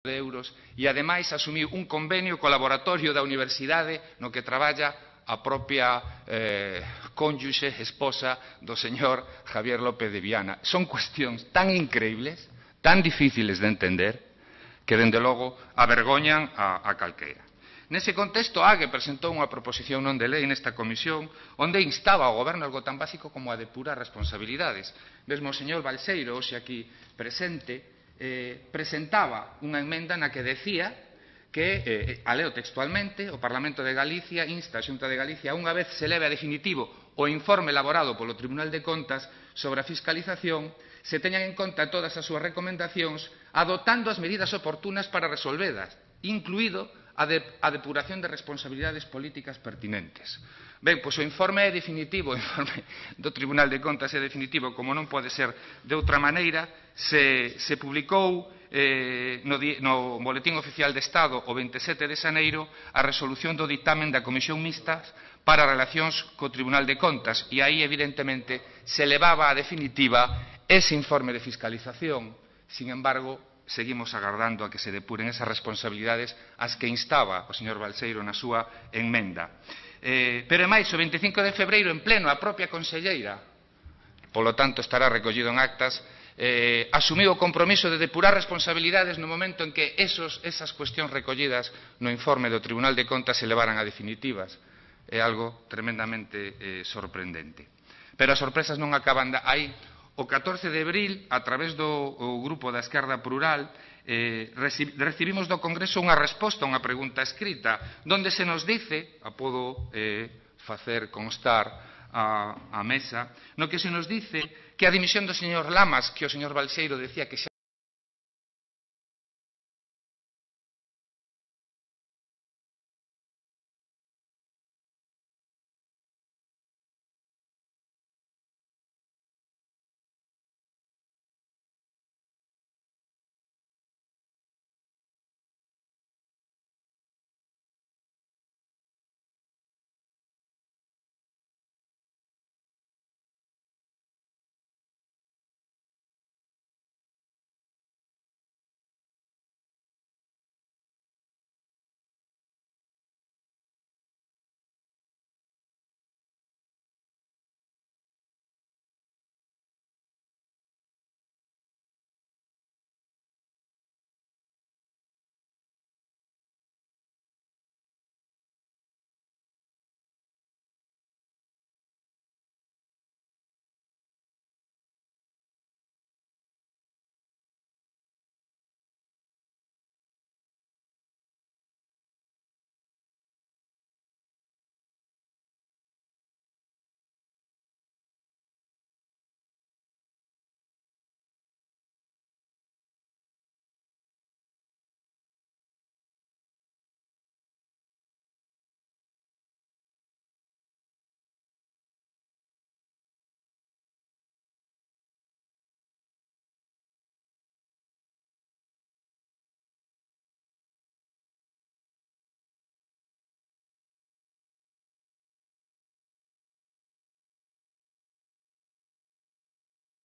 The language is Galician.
de euros e, ademais, asumiu un convenio co laboratorio da Universidade no que traballa a propia cónyuxe, esposa do señor Javier López de Viana. Son cuestións tan increíbles, tan difíciles de entender, que, dende logo, avergoñan a calquera. Nese contexto, a AGE presentou unha proposición non de lei nesta comisión onde instaba ao Goberno algo tan básico como a depurar responsabilidades. Mesmo o señor Balseiro, hoxe aquí presente, presentaba unha emenda na que decía que, a leo textualmente, o Parlamento de Galicia insta a Xunta de Galicia unha vez se leve a definitivo o informe elaborado polo Tribunal de Contas sobre a fiscalización, se teñan en conta todas as súas recomendacións adoptando as medidas oportunas para resolvedas, incluído a depuración de responsabilidades políticas pertinentes. Ben, pois o informe é definitivo, o informe do Tribunal de Contas é definitivo, como non pode ser de outra maneira, se publicou no Boletín Oficial de Estado o 27 de xaneiro a resolución do dictamen da Comisión Mixta para relacións co Tribunal de Contas e aí, evidentemente, se levaba a definitiva ese informe de fiscalización. Sin embargo, seguimos agardando a que se depuren esas responsabilidades ás que instaba o señor Balseiro na súa emenda. Pero, ademais, o 25 de febreiro, en pleno, a propia conselleira, polo tanto estará recollido en actas, asumiu o compromiso de depurar responsabilidades no momento en que esas cuestións recollidas no informe do Tribunal de Contas se levaran a definitivas. É algo tremendamente sorprendente. Pero as sorpresas non acaban aí. O 14 de abril, a través do grupo da Esquerda Plural, recibimos do Congreso unha resposta a unha pregunta escrita, onde se nos dice, a podo facer constar a mesa, no que se nos dice que a dimisión do señor Lamas, que o señor Balseiro decía que xa